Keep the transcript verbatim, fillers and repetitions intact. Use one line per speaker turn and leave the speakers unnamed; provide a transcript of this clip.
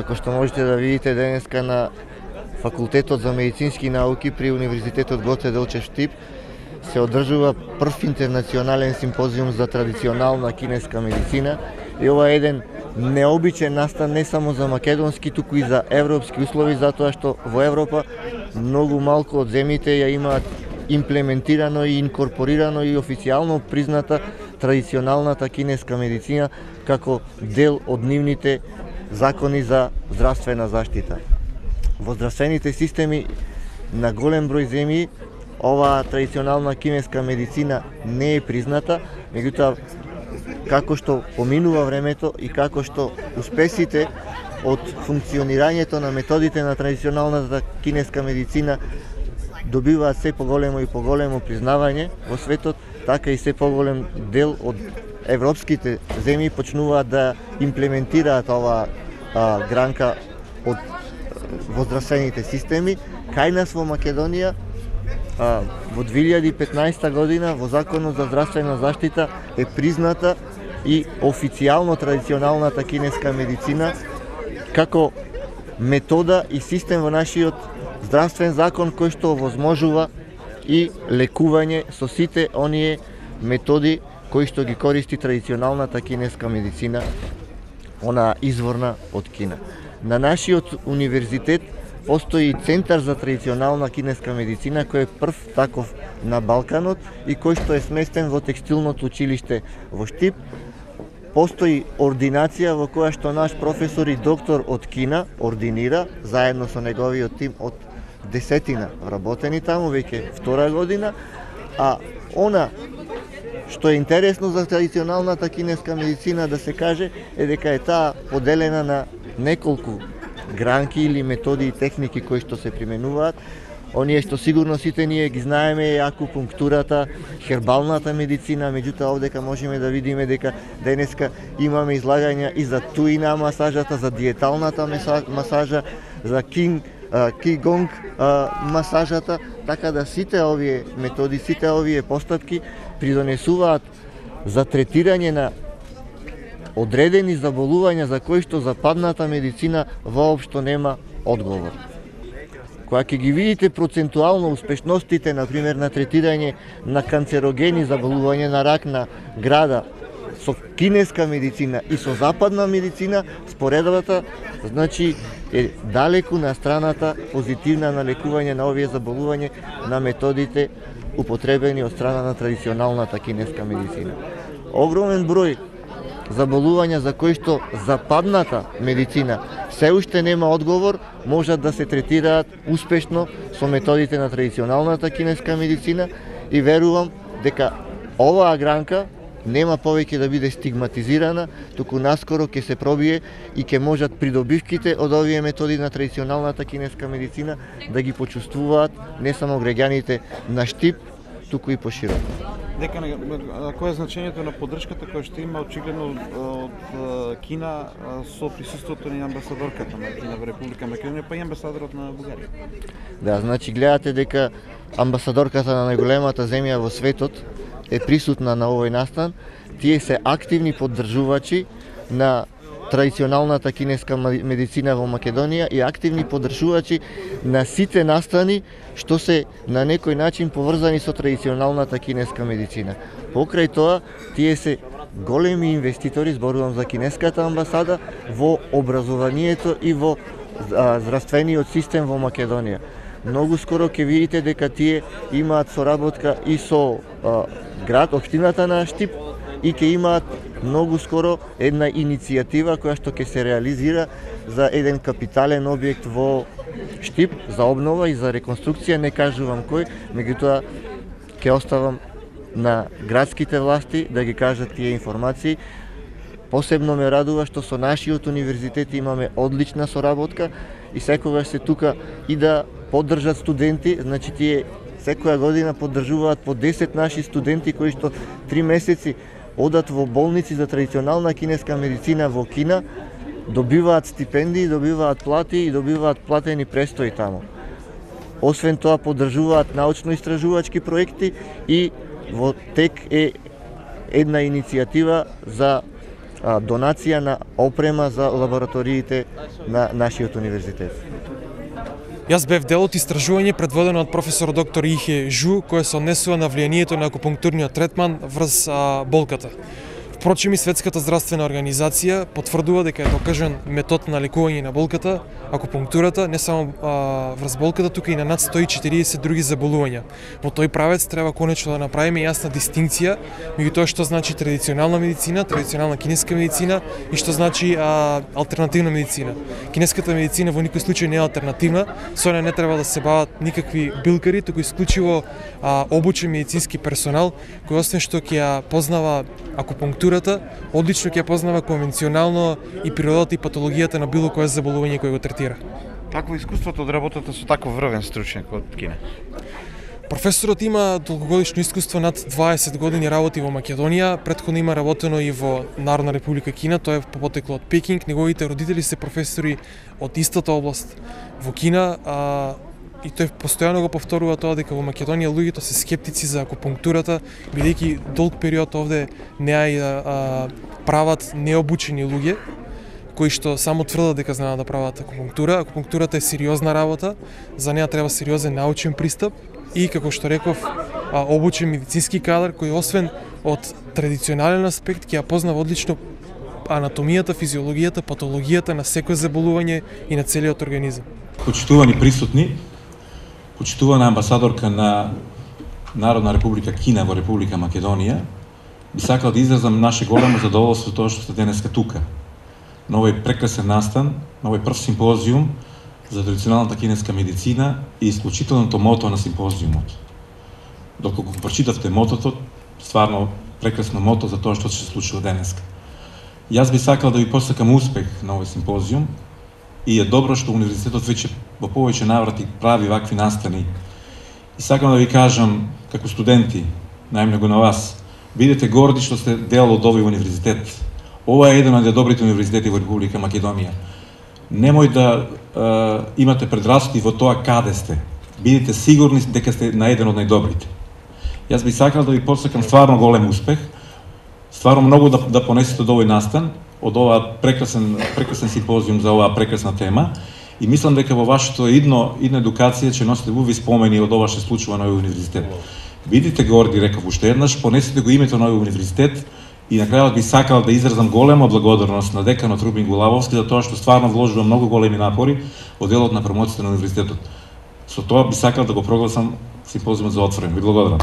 како што можете да видите денеска на Факултетот за медицински науки при Универзитетот Гоце Делчев Штип се одржува прв интернационален симпозиум за традиционална кинеска медицина и ова е еден необичен настан не само за македонски, туку и за европски услови, затоа што во Европа многу малку од земјите ја имаат имплементирано и инкорпорирано и официјално призната традиционалната кинеска медицина како дел од нивните закони за здравствена заштита. Во здравствените системи на голем број земји оваа традиционална кинеска медицина не е призната, меѓутоа како што поминува времето и како што успесите од функционирањето на методите на традиционалната кинеска медицина добиваат се поголемо и поголемо признавање во светот, така и се поголем дел од европските земји почнуваат да имплементираат оваа а, гранка од во здравствените системи. Кај нас во Македонија а, во две илјади и петнаесета година во Законот за здравствена заштита е призната и официјално традиционалната кинеска медицина како метода и систем во нашиот здравствен закон кој што овозможува и лекување со сите оние методи кои што ги користи традиционалната кинеска медицина, она изворна од Кина. На нашиот универзитет постои Центар за традиционална кинеска медицина кој е прв таков на Балканот и кој што е сместен во текстилното училиште во Штип. Постои ординација во која што наш професор и доктор од Кина ординира заедно со неговиот тим од десетина вработени таму веќе втора година, а она што е интересно за традиционалната кинеска медицина да се каже е дека е таа поделена на неколку гранки или методи и техники кои што се применуваат. Оние што сигурно сите ние ги знаеме е акупунктурата, хербалната медицина, меѓутоа овдека можеме да видиме дека денеска имаме излагања и за туина масажата, за диеталната масажа, за кинг кигонг масажата, така да сите овие методи, сите овие постапки придонесуваат за третирање на одредени заболувања за кои што западната медицина воопшто нема одговор. Кога ќе ги видите процентуално успешностите, например, на третирање на канцерогени заболувања на рак на града со кинеска медицина и со западна медицина, споредбата значи е далеку на страната позитивна на лекување на овие заболувања на методите употребени од страна на традиционалната кинеска медицина. Огромен број заболувања за кои што западната медицина се уште нема одговор, можат да се третираат успешно со методите на традиционалната кинеска медицина и верувам дека оваа гранка нема повеќе да биде стигматизирана, туку наскоро ќе се пробие и ќе можат придобивките од овие методи на традиционалната кинеска медицина да ги почувствуваат не само граѓаните на Штип, туку и пошироко.
Дека кој е значењето на поддршката која што има очигледно од Кина со присуството на амбасадорката на Кина во Република Македонија, па и амбасадорот на Бугарија?
Да, значи гледате дека амбасадорката на најголемата земја во светот е присутна на овој настан. Тие се активни поддржувачи на традиционалната кинеска медицина во Македонија и активни поддржувачи на сите настани што се на некој начин поврзани со традиционалната кинеска медицина. Покрај тоа, тие се големи инвеститори, зборувам за кинеската амбасада, во образованието и во здравствениот систем во Македонија. Многу скоро ќе видите дека тие имаат соработка и со а, град, општината на Штип, и ќе имаат многу скоро една иницијатива која што ќе се реализира за еден капитален објект во Штип за обнова и за реконструкција, не кажувам кој, меѓутоа ќе оставам на градските власти да ги кажат тие информации. Посебно ме радува што со нашиот универзитет имаме одлична соработка и секогаш се тука и да поддржат студенти, значи тие секоја година поддржуваат по десет наши студенти кои што три месеци одат во болници за традиционална кинеска медицина во Кина, добиваат стипендии, добиваат плати и добиваат платени престои таму. Освен тоа поддржуваат научно-истражувачки проекти и во тек е една иницијатива за донација на опрема за лабораториите на нашиот универзитет.
Јас бев дел од истражување предводено од професор доктор Ихе Жу, кој се однесува на влијанието на акупунктурниот третман врз а, болката. Впрочем, и Светската здравствена организација потврдува дека е докажан метод на лекување на болката, акупунктурата, не само а, врз болката, тука и на над сто и четириесет други заболувања. Во тој правец треба конечно да направиме јасна дистинкција меѓу тоа што значи традиционална медицина, традиционална кинеска медицина и што значи а, алтернативна медицина. Кинеската медицина во никој случај не е алтернативна, со неја не треба да се бават никакви билкари, туку исклучиво а, обучен медицински персонал кој освен што ќе ја познава акупунктура, одлично ќе познава конвенционално и природата и патологијата на било кое заболување кој го третира.
Какво искуството од работата со таков врвен стручњак од Кина?
Професорот има долгогодишно искуство, над дваесет години работи во Македонија, претходно има работено и во Народна република Кина, тој е потекло од Пекинг, неговите родители се професори од истата област во Кина, а, и тој постојано го повторува тоа дека во Македонија луѓето се скептици за акупунктурата, бидејќи долг период овде не ја а, прават необучени луѓе, кои што само тврдат дека знаат да прават акупунктура. Акупунктурата е сериозна работа, за неа треба сериозен научен пристап и, како што реков, а, обучен медицински кадар кој освен од традиционален аспект ќе ја познава одлично анатомијата, физиологијата, патологијата на секој заболување и на целиот организам.
Почитувани присутни, почитувана амбасадорка на Народна република Кина во Република Македонија, би сакал да изразам наше големо задоволство тоа што сте денеска тука. На овој прекрасен настан, на овој прв симпозиум за традиционалната кинеска медицина и исклучителното мото на симпозиумот. Доколку го прочитавте мотото, стварно прекрасно мото за тоа што се случува денеска. Јас би сакал да ви посакам успех на овој симпозиум и е добро што универзитетот веќе во повеќе наврати прави вакви настани. И сакам да ви кажам, како студенти, најмногу на вас, бидете горди што сте дел од овој универзитет. Ова е еден од добрите универзитети во Република Македонија. Немој да е, имате предрасуди во тоа каде сте. Бидете сигурни дека сте на еден од најдобрите. Јас би сакал да ви посакам стварно голем успех, стварно многу да, да понесете од овој настан, од оваа прекрасен, прекрасен симпозиум за оваа прекрасна тема. И мислам дека во вашето идно, идна едукација ќе носите убави спомени од ова што се случува на овој универзитет. Бидете горди, реков уште еднаш, понесете го името на овој универзитет и на крајот би сакал да изразам голема благодарност на деканот Рубин Гулавовски за тоа што стварно вложува многу големи напори во делот на промоцијата на универзитетот. Со тоа би сакал да го прогласам симпозиумот за отворен. Ви благодарам.